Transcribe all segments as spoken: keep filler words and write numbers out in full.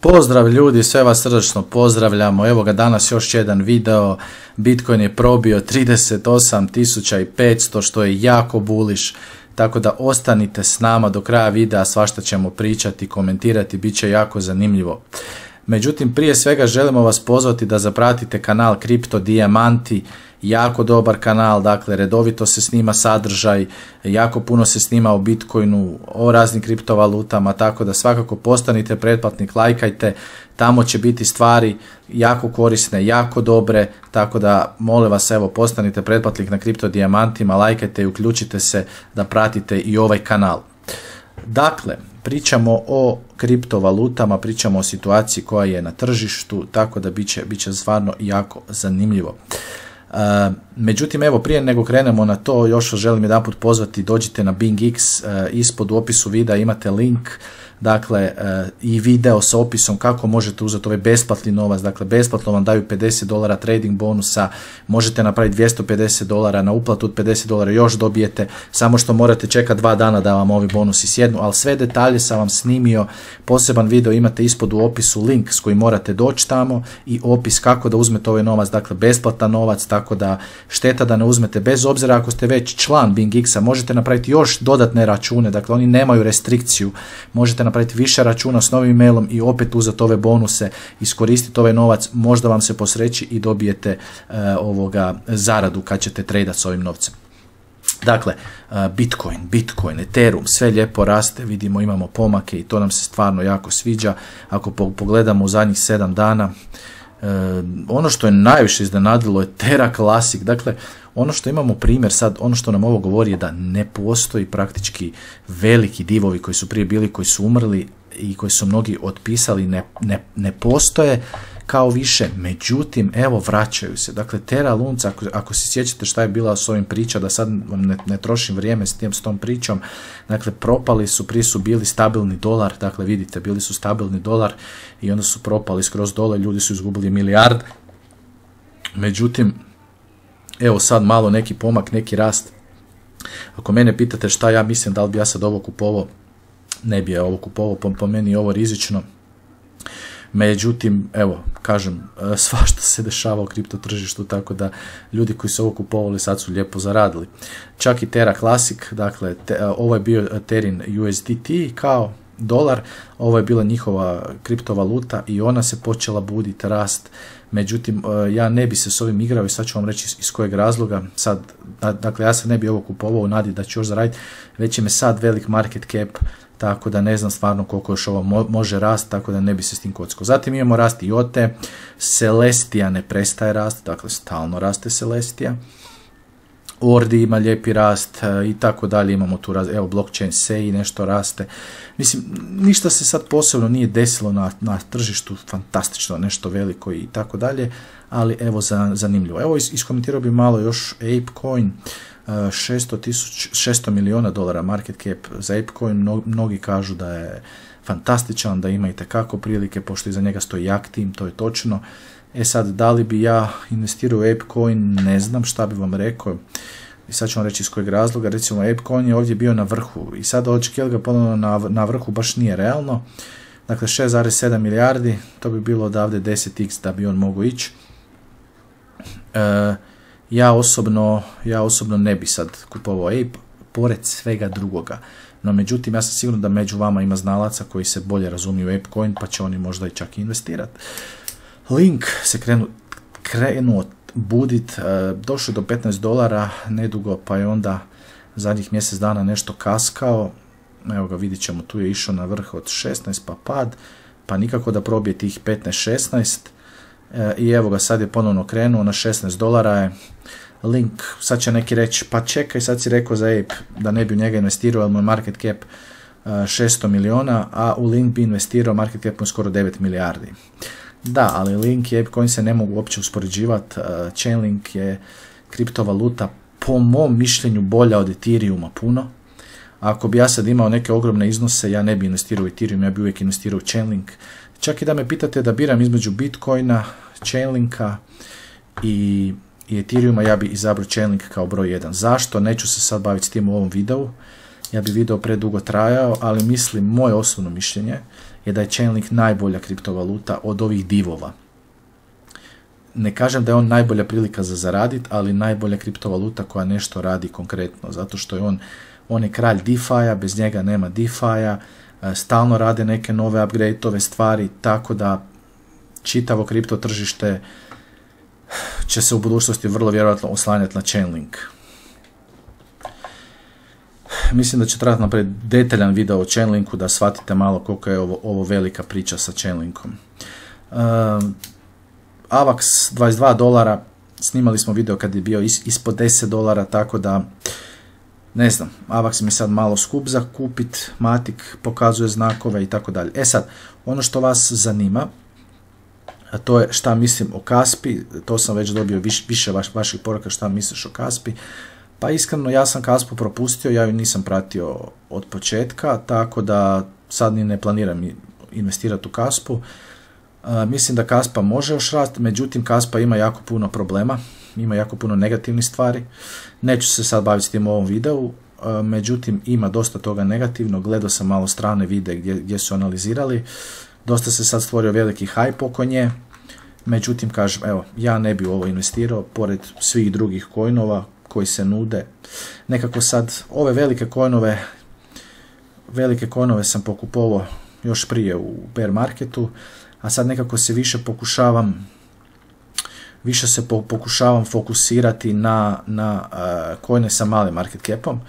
Pozdrav ljudi, sve vas srdačno pozdravljamo. Evo ga danas još jedan video. Bitcoin je probio trideset osam tisuća petsto što je jako bullish. Tako da ostanite s nama do kraja videa, svašta ćemo pričati, komentirati, bit će jako zanimljivo. Međutim, prije svega želimo vas pozvati da zapratite kanal Kripto Dijamanti, jako dobar kanal, dakle redovito se snima sadržaj, jako puno se snima o Bitcoinu, o raznim kriptovalutama, tako da svakako postanite pretplatnik, lajkajte, tamo će biti stvari jako korisne, jako dobre, tako da molim vas evo postanite pretplatnik na Kripto Dijamantima, lajkajte i uključite se da pratite i ovaj kanal. Dakle, pričamo o kriptovalutama, pričamo o situaciji koja je na tržištu, tako da bit će, bit će stvarno jako zanimljivo. Uh, međutim, evo prije nego krenemo na to, još vas želim jedanput pozvati, dođite na BingX, uh, ispod u opisu videa imate link, dakle uh, i video sa opisom kako možete uzeti ovaj besplatni novac, dakle besplatno vam daju pedeset dolara trading bonusa, možete napraviti dvjesto pedeset dolara, na uplatu od pedeset dolara još dobijete, samo što morate čekati dva dana da vam ovi bonusi sjednu, ali sve detalje sam vam snimio, poseban video imate ispod u opisu, link s kojim morate doći tamo i opis kako da uzmete ovaj novac, dakle besplatan novac, tako da šteta da ne uzmete, bez obzira ako ste već član BingX-a, možete napraviti još dodatne račune, dakle oni nemaju restrikciju, možete napraviti više računa s novim mailom i opet uzeti ove bonuse, iskoristiti ovaj novac, možda vam se posreći i dobijete uh, ovoga zaradu kad ćete tradati s ovim novcem. Dakle, uh, Bitcoin, Bitcoin, Ethereum, sve lijepo raste, vidimo imamo pomake i to nam se stvarno jako sviđa. Ako po pogledamo u zadnjih sedam dana, Uh, ono što je najviše iznenadilo je Terra Classic, dakle ono što imamo primjer sad, ono što nam ovo govori je da ne postoji praktički veliki divovi koji su prije bili, koji su umrli i koji su mnogi otpisali, ne, ne, ne postoje kao više, međutim evo vraćaju se, dakle Terra Lunca, ako, ako se sjećate šta je bila s ovim priča, da sad vam ne, ne trošim vrijeme s, tim, s tom pričom, dakle propali su, prije su bili stabilni dolar, dakle vidite bili su stabilni dolar i onda su propali skroz dole, ljudi su izgubili milijarde, međutim evo sad malo neki pomak, neki rast. Ako mene pitate šta ja mislim, da li bi ja sad ovo kupovao, ne bi ja ovo kupovao, po, po meni je ovo rizično. Međutim, evo, kažem, svašta se dešava u kripto tržištu, tako da ljudi koji su ovo kupovali sad su lijepo zaradili. Čak i Terra Classic, dakle, te, ovo je bio Terin U S D T kao dolar, ovo je bila njihova kriptovaluta i ona se počela buditi, rast. Međutim, ja ne bi se s ovim igrao i sad ću vam reći iz kojeg razloga. Sad, dakle, ja se ne bi ovo kupovao u nadi da ću još zaraditi, već je me sad velik market cap, tako da ne znam stvarno koliko još ovo mo može rast, tako da ne bi se s tim kockao. Zatim imamo rast I O T E, Celestia ne prestaje rast, dakle stalno raste Celestia. Ordi ima lijepi rast i tako dalje, imamo tu rast, evo blockchain S E I nešto raste. Mislim, ništa se sad posebno nije desilo na, na tržištu, fantastično, nešto veliko i tako dalje, ali evo za, zanimljivo. Evo is, iskomentirao bi malo još ApeCoin, šesto milijuna dolara market cap za ApeCoin, mnogi kažu da je fantastičan, da ima itekako prilike, pošto iza njega stoji jak tim, to je točno. E sad, da li bi ja investirao u ApeCoin, ne znam šta bi vam rekao. I sad ću vam reći iz kojeg razloga. Recimo, ApeCoin je ovdje bio na vrhu i sad očekivati ga ponovno na, na vrhu baš nije realno. Dakle, šest zarez sedam milijardi, to bi bilo odavde deset x da bi on mogao ići. E, ja, osobno, ja osobno ne bi sad kupovao Ape, pored svega drugoga. No, međutim, ja sam siguran da među vama ima znalaca koji se bolje razumiju u ApeCoin, pa će oni možda i čak investirati. Link se krenu, krenuo budit, e, došao do petnaest dolara nedugo, pa je onda zadnjih mjesec dana nešto kaskao. Evo ga, vidit ćemo, tu je išao na vrh od šesnaest, pa pad, pa nikako da probije tih petnaest šesnaest. E, I evo ga, sad je ponovno krenuo na šesnaest dolara je. Link, sad će neki reći, pa čekaj, sad si rekao za Ape da ne bi u njega investirao, ali moj market cap e, šesto milijuna, a u Link bi investirao, market cap mu skoro devet milijardi. Da, ali Link i ApeCoin se ne mogu uopće uspoređivati. Uh, Chainlink je kriptovaluta po mom mišljenju bolja od Ethereuma puno. Ako bi ja sad imao neke ogromne iznose, ja ne bi investirao u Ethereum, ja bi uvijek investirao u Chainlink. Čak i da me pitate da biram između Bitcoina, Chainlinka i, i Ethereuma, ja bi izabrao Chainlink kao broj jedan. Zašto? Neću se sad baviti s tim u ovom videu. ja bi video predugo trajao, ali mislim, moje osobno mišljenje je da je Chainlink najbolja kriptovaluta od ovih divova. Ne kažem da je on najbolja prilika za zaraditi, ali najbolja kriptovaluta koja nešto radi konkretno, zato što je on, on je kralj DeFi-a, bez njega nema DeFi-a, stalno rade neke nove upgrade-ove stvari, tako da čitavo kripto tržište će se u budućnosti vrlo vjerojatno oslanjati na Chainlink. Mislim da će trebati napraviti detaljan video o Chainlinku da shvatite malo koliko je ovo, ovo velika priča sa Chainlinkom. Uh, Avax dvadeset dva dolara, snimali smo video kad je bio is, ispod deset dolara, tako da ne znam, Avax mi sad malo skup za kupit, Matic pokazuje znakove i tako dalje. E sad, ono što vas zanima, a to je šta mislim o Kaspi, to sam već dobio viš, više vaš, vaših poruka šta misliš o Kaspi. Pa iskreno, ja sam Kaspu propustio, ja ju nisam pratio od početka, tako da sad ni ne planiram investirati u Kaspu. Uh, mislim da Kaspa može još rasti, međutim Kaspa ima jako puno problema, ima jako puno negativnih stvari. Neću se sad baviti s tim u ovom videu, uh, međutim ima dosta toga negativno, gledao sam malo strane videe gdje, gdje su analizirali, dosta se sad stvorio veliki hype oko nje, međutim kažem, evo, ja ne bi u ovo investirao, pored svih drugih coinova koji se nude. Nekako sad ove velike coinove, velike coinove sam pokupovao još prije u bear marketu, a sad nekako se više pokušavam više se pokušavam fokusirati na, na uh, coine sa malim market capom,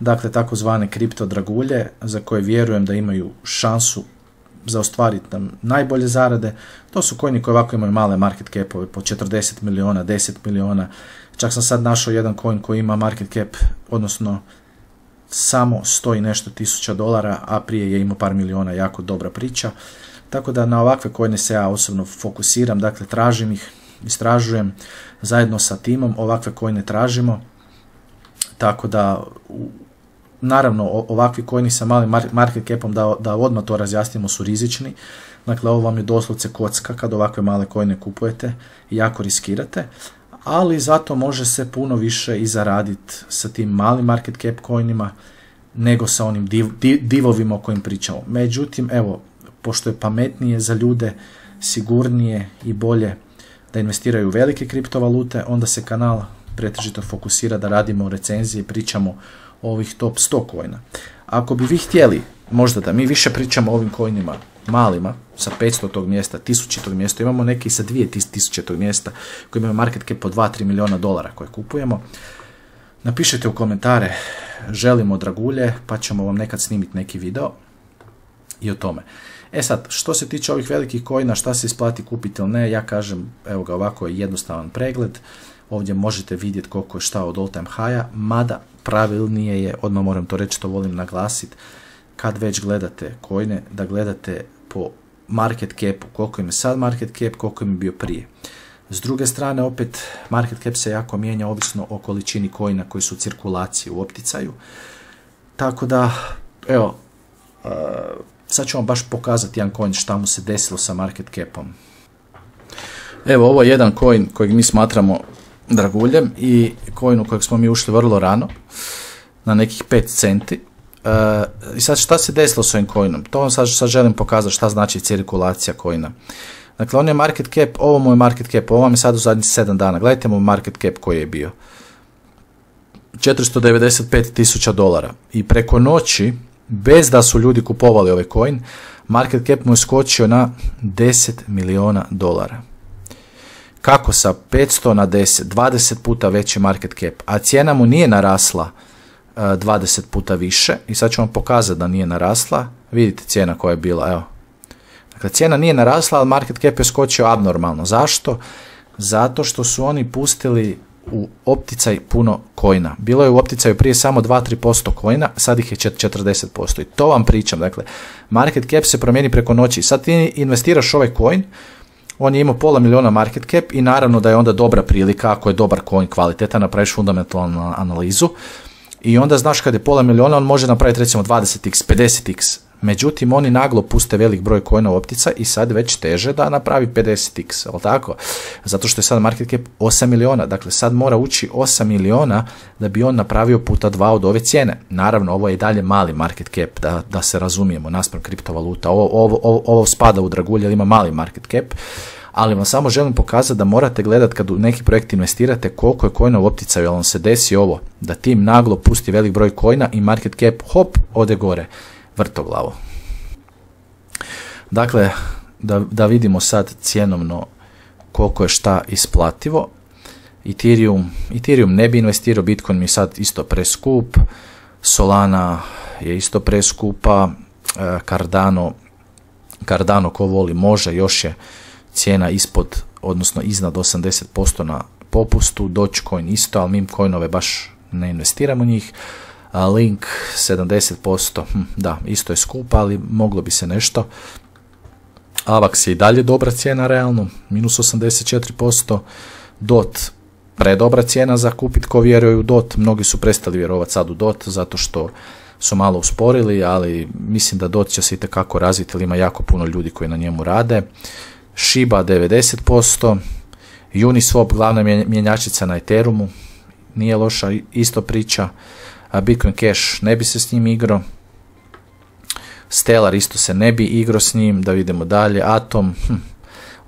dakle takozvane kripto dragulje za koje vjerujem da imaju šansu za ostvariti nam najbolje zarade. To su coini koji ovako imaju male market capove po četrdeset miliona, deset miliona. Čak sam sad našao jedan coin koji ima market cap, odnosno samo sto i nešto tisuća dolara, a prije je imao par miliona, jako dobra priča. Tako da na ovakve coine se ja osobno fokusiram, dakle tražim ih, istražujem zajedno sa timom, ovakve coine tražimo. Tako da, naravno, ovakvi coini sa malim market capom, da, da odmah to razjasnimo, su rizični. Dakle, ovo vam je doslovce kocka kad ovakve male coine kupujete i jako riskirate. Ali zato može se puno više i zaraditi sa tim malim market cap coinima nego sa onim div, div, divovima o kojim pričamo. Međutim, evo, pošto je pametnije za ljude, sigurnije i bolje da investiraju u velike kriptovalute, onda se kanal pretežito fokusira da radimo recenzije i pričamo o ovih top sto coina. Ako bi vi htjeli možda da mi više pričamo o ovim coinima malima, sa petsto tog mjesta, tisuće tog mjesta, imamo neki sa dvije tisuće tog mjesta koji imaju market cap po dva do tri milijuna dolara koje kupujemo, napišite u komentare želimo dragulje, pa ćemo vam nekad snimiti neki video i o tome. E sad, što se tiče ovih velikih coina, šta se isplati kupiti ili ne, ja kažem, evo ga, ovako je jednostavan pregled. Ovdje možete vidjeti koliko je šta od all time high-a, mada pravilnije je, odmah moram to reći, to volim naglasiti, kad već gledate coine, da gledate po market capu, koliko im je sad market cap, koliko im je bio prije. S druge strane, opet, market cap se jako mijenja ovisno o količini coina koji su u cirkulaciji, u opticaju. Tako da, evo, uh, sad ću vam baš pokazati jedan coin šta mu se desilo sa market capom. Evo, ovo je jedan coin kojeg mi smatramo draguljem i coin u kojeg smo mi ušli vrlo rano, na nekih pet centi. Uh, I sad šta se desilo s ovim coinom? To vam sad, sad želim pokazati šta znači cirkulacija coina. Dakle, on je market cap, ovo mu je market cap, ovo vam je sad u zadnjih sedam dana. Gledajte mu market cap koji je bio. četiristo devedeset pet tisuća dolara. I preko noći, bez da su ljudi kupovali ovaj coin, market cap mu je skočio na deset milijuna dolara. Kako sa petsto na deset, dvadeset puta veći market cap, a cijena mu nije narasla uh, dvadeset puta više. I sad ću vam pokazati da nije narasla. Vidite cijena koja je bila, evo. Dakle, cijena nije narasla, ali market cap je skočio abnormalno. Zašto? Zato što su oni pustili u opticaj puno coina. Bilo je u opticaju prije samo dva do tri posto coina, sad ih je četrdeset posto. I to vam pričam. Dakle, market cap se promijeni preko noći. Sad ti investiraš ovaj coin, on je imao pola miliona market cap i naravno da je onda dobra prilika, ako je dobar coin kvalitetan, napraviš fundamentalnu analizu i onda znaš kad je pola miliona, on može napraviti recimo dvadeset x, pedeset x Međutim, oni naglo puste velik broj coina optica i sad već teže da napravi pedeset x, ali tako? Zato što je sad market cap osam miliona, dakle sad mora ući osam miliona da bi on napravio puta dva od ove cijene. Naravno, ovo je i dalje mali market cap, da, da se razumijemo, naspram kriptovaluta. Ovo, ovo, ovo, ovo spada u dragulje, ali ima mali market cap, ali vam samo želim pokazati da morate gledati kad u neki projekt investirate koliko je coina u opticaju, jer vam se desi ovo, da tim naglo pusti velik broj coina i market cap, hop, ode gore. Vrtoglavo. Dakle, da, da vidimo sad cjenovno koliko je šta isplativo. Ethereum, Ethereum ne bi investirao, Bitcoin mi je sad isto preskup, Solana je isto preskupa, Cardano, Cardano ko voli može, još je cijena ispod, odnosno iznad osamdeset posto na popustu, Dogecoin isto, ali meme coinove baš ne investiramo njih. Link sedamdeset posto, hm, da, isto je skup, ali moglo bi se nešto. Avax je i dalje dobra cijena realno, minus osamdeset četiri posto. Dot, predobra cijena za kupit ko vjeruje u Dot. Mnogi su prestali vjerovati sad u Dot zato što su malo usporili, ali mislim da Dot će se itekako razviti, jer ima jako puno ljudi koji na njemu rade. Shiba devedeset posto. Uniswap, glavna mjenjačnica na Ethereumu, nije loša isto priča. Bitcoin Cash ne bi se s njim igrao. Stellar isto se ne bi igrao s njim. Da vidimo dalje. Atom hm,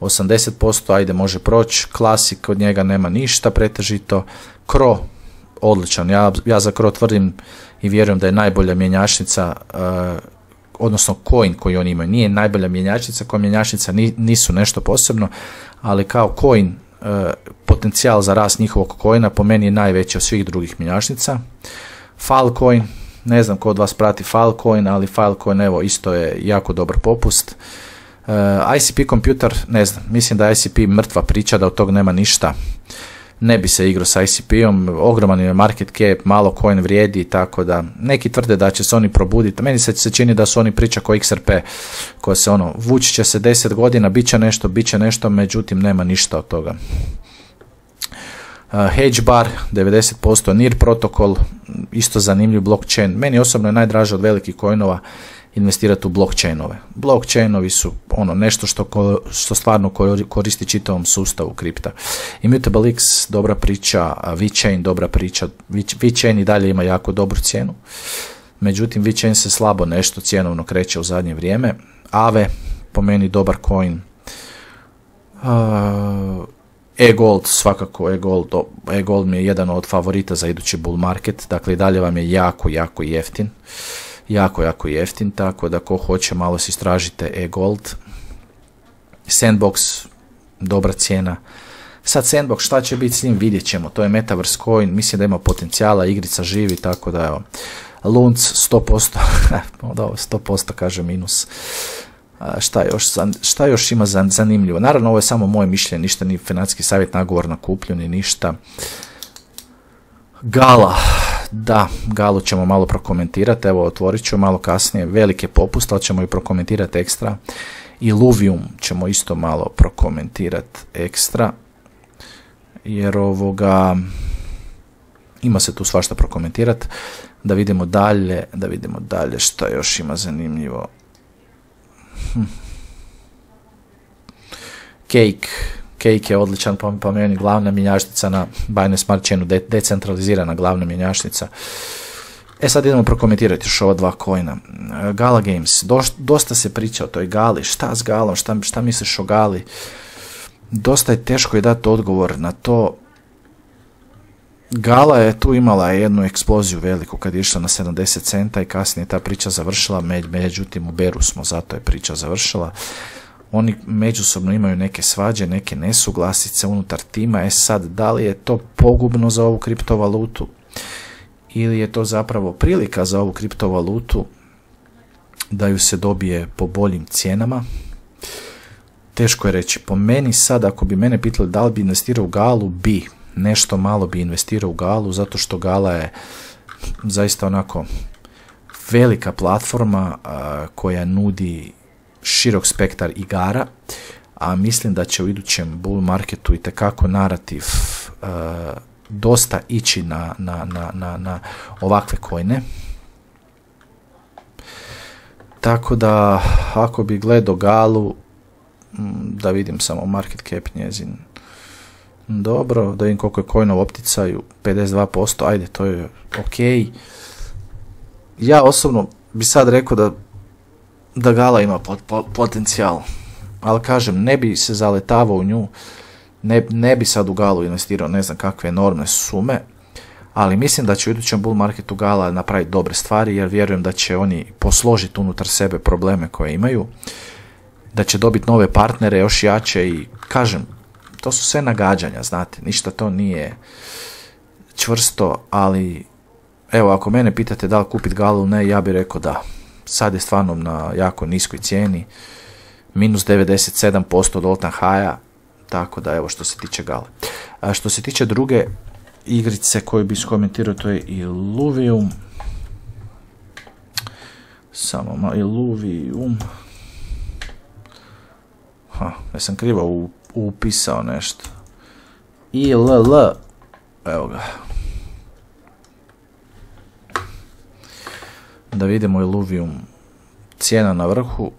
osamdeset posto, ajde može proći. Classic, od njega nema ništa pretežito. Cro, odličan. Ja, ja za Cro tvrdim i vjerujem da je najbolja mjenjačnica, uh, odnosno coin koji oni imaju. Nije najbolja mjenjačnica, koja mjenjačnica nisu nešto posebno, ali kao coin, uh, potencijal za rast njihovog coina po meni je najveći od svih drugih mjenjačnica. Filecoin, ne znam ko od vas prati Filecoin, ali Filecoin evo isto je jako dobar popust. Uh, I C P Computer, ne znam, mislim da je I C P mrtva priča, da od tog nema ništa. Ne bi se igrao sa I C P-om, ogroman je market cap, malo coin vrijedi, tako da neki tvrde da će se oni probuditi. Meni se, se čini da su oni priča ko X R P, koja se ono, vući će se deset godina, bit će nešto, bit će nešto, međutim nema ništa od toga. Uh, HedgeBar devedeset posto, Near Protocol, isto zanimljiv blockchain. Meni osobno je najdraže od velikih coinova investirati u blockchainove. Blockchainovi su ono nešto što, ko, što stvarno koristi čitavom sustavu kripta. Immutable X, dobra priča, VeChain, dobra priča. VeChain i dalje ima jako dobru cijenu. Međutim, VeChain se slabo nešto cjenovno kreće u zadnje vrijeme. Aave, po meni dobar coin. Uh, E-Gold, svakako E-Gold, E-Gold mi je jedan od favorita za idući bull market, dakle i dalje vam je jako, jako jeftin, jako, jako jeftin, tako da ko hoće malo si istražite E-Gold. Sandbox, dobra cijena. Sad Sandbox, šta će biti s njim, vidjet ćemo, to je Metaverse coin, mislim da ima potencijala, igrica živi, tako da evo. Lunc, sto posto, sto posto kaže minus. Šta još, šta još ima zanimljivo? Naravno, ovo je samo moje mišljenje, ništa ni financijski savjet, nagovor na kuplju, ni ništa. Gala, da, Galu ćemo malo prokomentirati, evo otvorit ću malo kasnije, velike popust, ali ćemo i prokomentirati ekstra. I Luvium ćemo isto malo prokomentirati ekstra, jer ovoga, ima se tu svašta prokomentirati. Da vidimo dalje, da vidimo dalje šta još ima zanimljivo. Hm. Cake, Cake je odličan, po, po meni glavna mjenjačnica na Binance Smart Chainu, de, decentralizirana glavna mjenjačnica. E sad idemo prokomentirati još ova dva coina. Gala Games, Do, dosta se priča o toj Gali, šta s Galom, šta, šta misliš o Gali? Dosta je teško je dati odgovor na to. Gala je tu imala jednu eksploziju veliku kad je išla na sedamdeset centa i kasnije ta priča završila, međutim u beru smo, zato je priča završila. Oni međusobno imaju neke svađe, neke nesuglasice unutar tima, e sad da li je to pogubno za ovu kriptovalutu ili je to zapravo prilika za ovu kriptovalutu da ju se dobije po boljim cijenama. Teško je reći, po meni sad ako bi mene pitali da li bi investirao u Galu, bi. Nešto malo bi investirao u Galu, zato što Gala je zaista onako velika platforma a, koja nudi širok spektar igara, a mislim da će u idućem bull marketu itekako narativ a, dosta ići na, na, na, na, na ovakve coine. Tako da, ako bi gledao Galu, da vidim samo market cap njezin. Dobro, da vidim koliko je coinov u opticaju, pedeset dva posto, ajde, to je ok. Ja osobno bi sad rekao da, da Gala ima pot, pot, potencijal, ali kažem, ne bi se zaletavao u nju, ne, ne bi sad u Galu investirao ne znam kakve enormne sume, ali mislim da će u idućem bull marketu Gala napraviti dobre stvari, jer vjerujem da će oni posložiti unutar sebe probleme koje imaju, da će dobiti nove partnere još jače i kažem, to su sve nagađanja, znate, ništa to nije čvrsto, ali evo, ako mene pitate da li kupiti Galu, ne, ja bih rekao da. Sad je stvarno na jako niskoj cijeni, minus devedeset sedam posto od all time high-a, tako da evo što se tiče Gale. A što se tiče druge igrice koju bi skomentirao, to je Illuvium. Samo malo, Illuvium. Ha, ja sam krivo upisao nešto. I L L. Evo ga. Da vidimo Illuvium. Cijena na vrhu.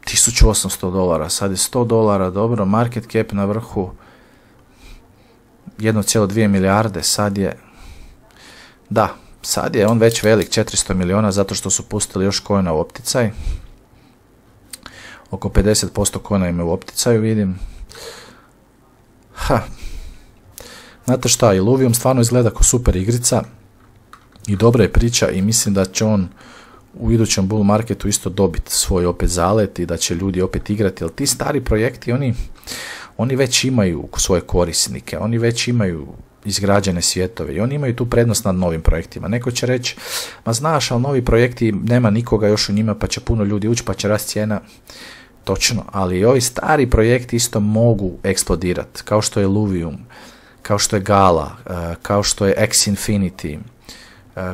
tisuću osamsto dolara. Sad je sto dolara. Dobro. Market cap na vrhu. jedna zarez dvije milijarde. Sad je... Da. Sad je on već velik. četiristo milijuna. Zato što su pustili još coina u opticaj. Oko pedeset posto coina ima u opticaju, vidim. Ha. Znate šta, Illuvium stvarno izgleda kao super igrica i dobra je priča i mislim da će on u idućem bull marketu isto dobiti svoj opet zalet i da će ljudi opet igrati, jer ti stari projekti, oni, oni već imaju svoje korisnike, oni već imaju izgrađene svjetove i oni imaju tu prednost nad novim projektima. Neko će reći, ma znaš, ali novi projekti nema nikoga još u njima pa će puno ljudi ući pa će rast cijena. Točno, ali i ovi stari projekti isto mogu eksplodirati, kao što je Illuvium, kao što je Gala, kao što je X Infinity,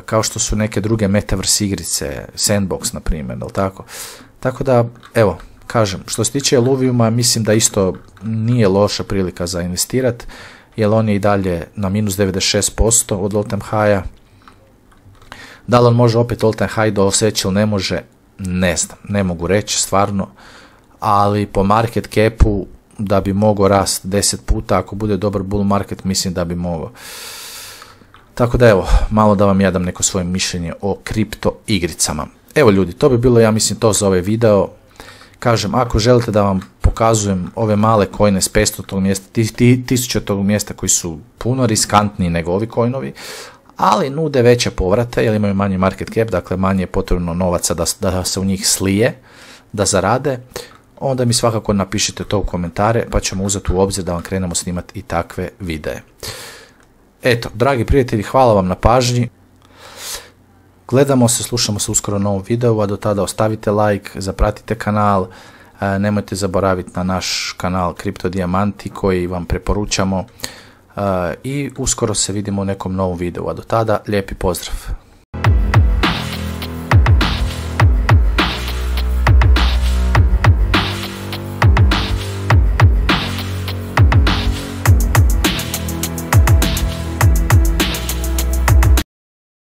kao što su neke druge metaverse igrice, Sandbox na primjer, jel tako? Tako da, evo, kažem, što se tiče Illuviuma, mislim da isto nije loša prilika za investirati, jer on je i dalje na minus devedeset šest posto od all time high-a. Da li on može opet all time high doseći ili ne može, ne znam, ne mogu reći stvarno, ali po market capu da bi mogao rast deset puta, ako bude dobar bull market, mislim da bi mogao. Tako da evo, malo da vam ja dam neko svoje mišljenje o kripto igricama. Evo ljudi, to bi bilo, ja mislim, to za ovaj video. Kažem, ako želite da vam pokazujem ove male coine s petstotog mjesta, tisućitog mjesta koji su puno riskantniji nego ovi coinovi, ali nude veće povrate jer imaju manji market cap, dakle manje je potrebno novaca da, da se u njih slije, da zarade, onda mi svakako napišite to u komentare pa ćemo uzeti u obzir da vam krenemo snimati i takve videe. Eto, dragi prijatelji, hvala vam na pažnji. Gledamo se, slušamo se uskoro u novom videu, a do tada ostavite like, zapratite kanal, nemojte zaboraviti na naš kanal Kripto Dijamanti koji vam preporučamo i uskoro se vidimo u nekom novom videu, a do tada lijepi pozdrav.